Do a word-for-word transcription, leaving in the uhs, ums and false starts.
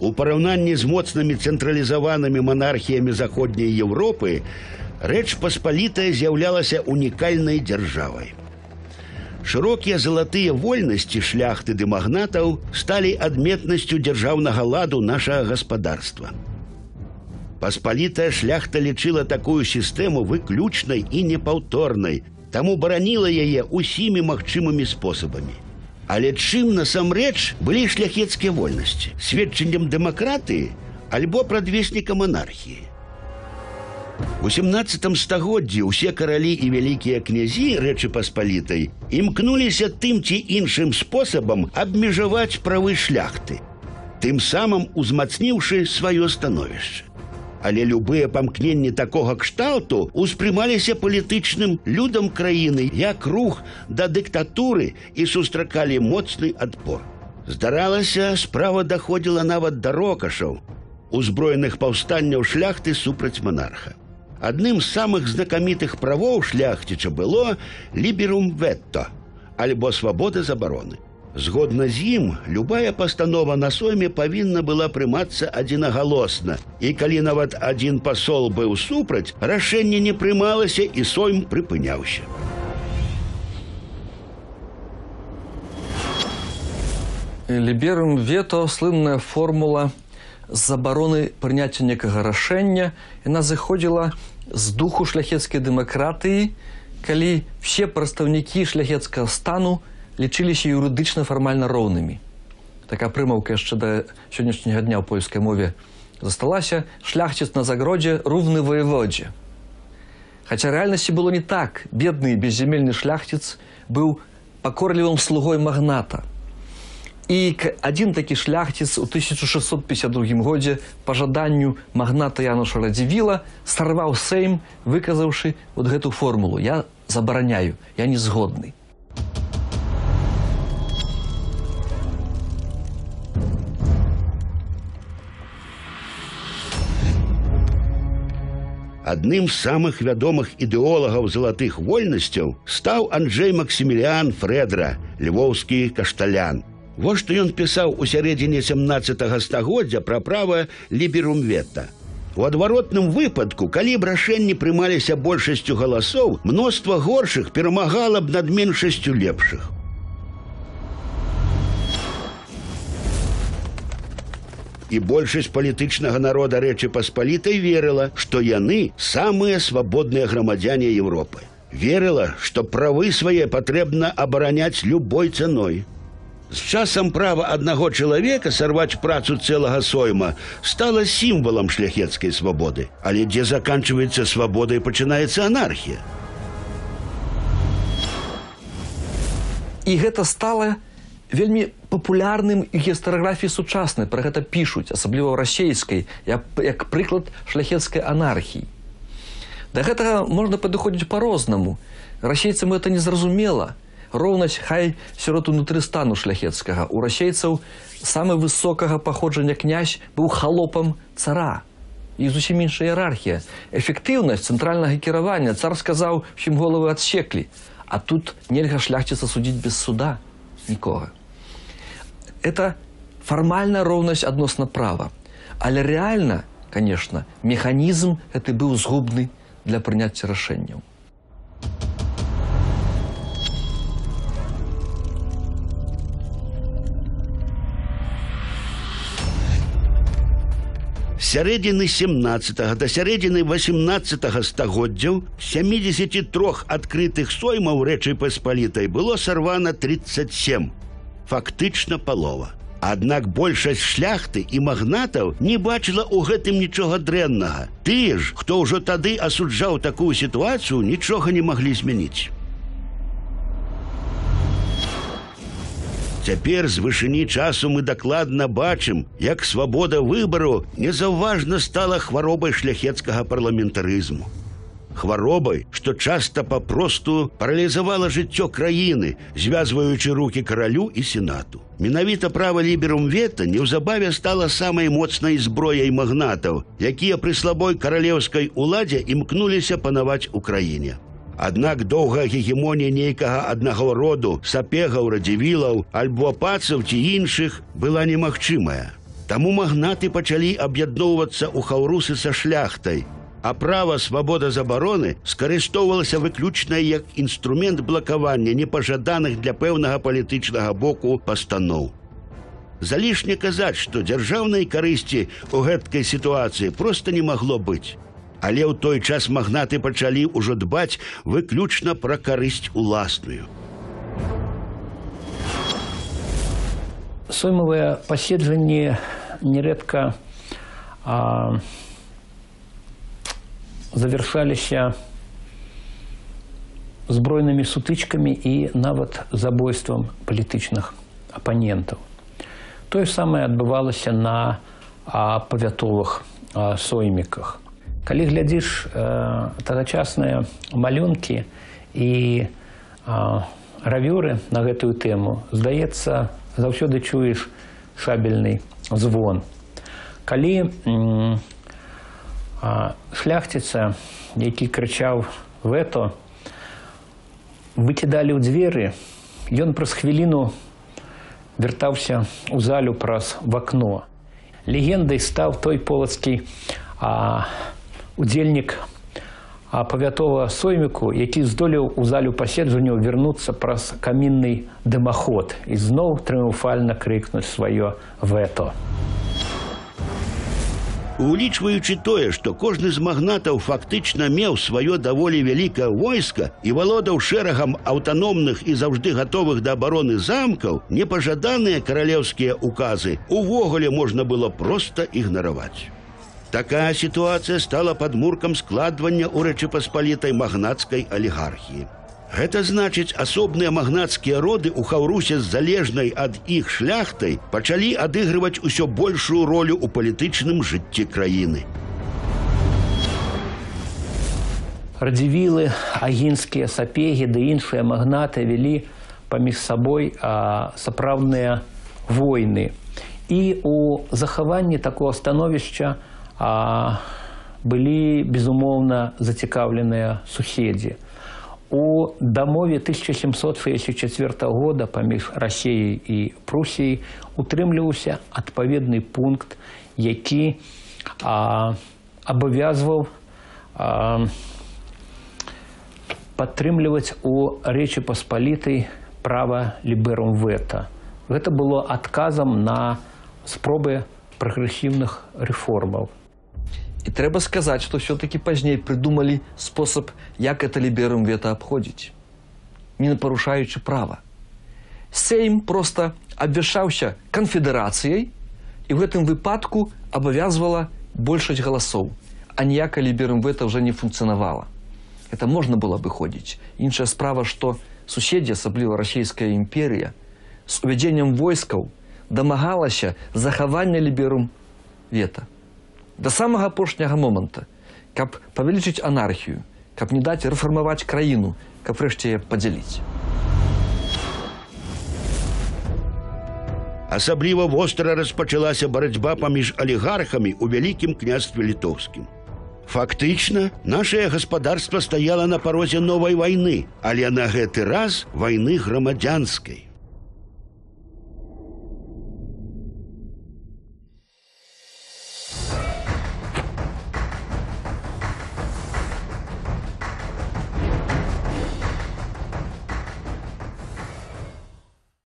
У параўнанні з моцнымі цэнтралізаванымі манархіямі заходняй Еўропы Рэч Паспалітая з'яўлялася унікальнай дзяржавай. Шырокія залатыя вольнасці шляхты ды магнатаў сталі адметнасцю дзяржаўнага ладу нашага гаспадарства. Паспалітая шляхта лічыла такую сістэму выключнай і непаўторнай, таму бараніла яе ўсімі магчымымі спосабамі. Але чым насамрэч былі шляхецкія вольнасці? Сведчаннем дэмакратыі альбо прадвеснікам манархіі? У сямнаццатым стагоддзі ўсе каралі і вялікія князі Рэчы Паспалітай імкнуліся тым ці іншым спосабам абмежаваць правы шляхты, тым самым узмацніўшы сваё становішча. Але любыя памкненні такога кшталту успрымаліся палітычным людам краіны як рух да дыктатуры і сустракалі моцны адпор. Здаралася, справа даходзіла нават да рокашаў, узброеных паўстанняў шляхты супраць манарха. Адным з самых знакамітых правоў шляхціча было «ліберум ветто» альбо «свабода забароны». Згодна з ім, любая пастанова на сойме павінна была прымацца адзінагалосна, і калі нават адзін пасол быў супраць, рашэнне не прымалася і сойм прыпыняўся. Ліберум вето – слынная формула забароны прыняцця некага рашэння. Яна зыходзіла з духу шляхецкай дэмакратыі, калі все прадстаўнікі шляхецкага стану лічыліся юрыдычна фармальна роўнымі. Такая прымаўка яшчэ да сённяшняга дня ў польскай мове засталася: шляхціц на загродзе роўны ваяводзе. Хаця рэальнасці было не так. Бедны беззямельны шляхціц быў пакорлівым слугой магната. І адзін такі шляхціц у тысяча шэсцьсот пятьдесят другім годзе па жаданню магната Януша Радзівіла сарваў Сейм, выказаўшы вот гэту формулу: «Я забараняю, я не згодны». Адным з самых вядомых ідэолагаў залатых вольнасцяў стаў Анджэй Максіміліан Фрэдра, львоўскі кашталян. Вось што ён пісаў у сярэдзіне сямнаццатага стагоддзя пра права ліберум вето. У адваротным выпадку, калі б рашэнні прымаліся большасцю галасоў, мноства горшых перамагала б над меншасцю лепшых. І большасць палітычнага народа Рэчы Паспалітай верыла, што яны самыя свабодныя грамадзяне Еўропы. Верыла, што правы свае патрэбна абараняць любой цаной. З часам права аднаго чалавека сарваць працу цэлага сойма стала сімвалам шляхецкай свабоды. Але дзе заканчваецца свабода і пачынаецца анархія? І гэта стала вельмі папулярным у гістарыяграфіі сучаснай, пра гэта пішуць, асабліва ў расейскай, як, як прыклад шляхецкай анархіі. Да гэтага можна падыходзіць па-рознаму. Расейцам гэта незразумела. Роўнасць хай сярод унутры стану шляхецкага. У расейцаў самы высокага паходжання князь быў халопам цара. І зусім іншая іерархія. Эфектыўнасць цэнтральнага кіравання. Цар сказаў, усім головы адсеклі. А тут нельга шляхціца судзіць без суда нікога. Это фармальная роўнасць адносна права. Але рэальна, конечно, механізм гэты быў згубны для прыняцця рашэнняў. З сярэдзіны сямнаццатага да сярэдзіны васямнаццатага стагоддзяў з сямідзесяці трох адкрытых соймаў Рэчы Паспалітай было сарвана тридцать семь. Фактычна палова. Аднак большасць шляхты і магнатаў не бачыла ў гэтым нічога дрэннага. Тыя ж, хто ўжо тады асуджаў такую сітуацыю, нічога не маглі змяніць. Цяпер з вышыні часу мы дакладна бачым, як свабода выбару незаўважна стала хваробай шляхецкага парламентарызму. Хваробай, што часта папросту паралізавала жыццё краіны, звязваючы рукі каралю і сенату. Менавіта права ліберум вето неўзабаве стала самай моцнай зброяй магнатаў, якія пры слабой каралеўскай уладзе імкнуліся панаваць у краіне. Аднак доўгая гегемонія нейкага аднаго роду, сапегаў, радзівілаў, альбо пацаў ці іншых, была немагчымая. Таму магнаты пачалі аб'ядноўвацца ў хаўрусы са шляхтай, а права свабода-забароны скарыстоўвалася выключна як інструмент блакавання непажаданых для пэўнага палітычнага боку пастаноў. Залішне казаць, што дзяржаўнай карысці ў гэткай сітуацыі проста не магло быць. Але ў той час магнаты пачалі ўжо дбаць выключна пра карысць уласную. Соймавыя паседжанні нерэдка а, завяршаліся збройнымі сутычкамі і нават забойствам палітычных апанентаў. Тое самае адбывалася на а, павятовых а, сойміках. Калі глядзіш а, тагачасныя малюнкі і а, гравюры на гэтую тэму, здаецца, заўсёды чуеш шабельны звон. Калі м, а, шляхціца, які крычаў «вето», выкідалі ў дзверы, ён праз хвіліну вяртаўся ў залю праз вакно. Легендай стаў той полацкі а, удзельнік а, павятовага сойміку, які здолеў у залю паседжанняў вярнуцца праз камінны дымаход і зноў трыумфальна крыкнуць сваё «вето». Улічваючы тое, што кожны з магнатаў фактычна меў сваё даволі вялікае войска і валодаў шэрагам аўтаномных і заўжды гатовых да абароны замкаў, непажаданыя каралеўскія указы увогуле можна было проста ігнараваць. Такая сітуацыя стала падмуркам складвання ў Рэчы Паспалітай магнацкай алігархіі. Гэта значыць, асобныя магнацкія роды ў хаўрусе з залежнай ад іх шляхтай пачалі адыгрываць усё большую ролю ў палітычным жыцці краіны. Радзівілы, агінскія сапегі ды іншыя магнаты вялі паміж сабой а, сапраўдныя войны. І ў захаванні такога становішча а, былі, безумоўна, зацікаўленыя суседзі. У дамове тысяча сямсот шэсцьдзесят чацвёртага года паміж Расіяй і Прусіяй утрымліваўся адпаведны пункт, які а, абавязваў а, падтрымліваць у Рэчы Паспалітай права ліберум вето. Гэта было адказам на спробы прагрэсіўных рэформаў. І трэба сказаць, што ўсё-такі пазней прыдумалі спосаб, як это ліберум вето абходзіць, не парушаючы права. Сейм проста абвяшчаўся канфедэрацыяй і ў гэтым выпадку абавязвала большасць галасоў, а ніякае ліберум вето ўжо не функцыянавала. Это можна было абыходзіць. Іншая справа, што суседзі, асабліва расійская імперія, з увядзеннем войскаў дамагалася захавання ліберум вето. Да самага апошняга моманта, каб павялічыць анархію, каб не даць рэфармаваць краіну, каб рэшце яе падзяліць. Асабліва востра распачалася барацьба паміж алігархамі ў Вялікім княстве літоўскім. Фактычна, нашае гаспадарства стаяла на парозе новай вайны, але на гэты раз вайны грамадзянскай.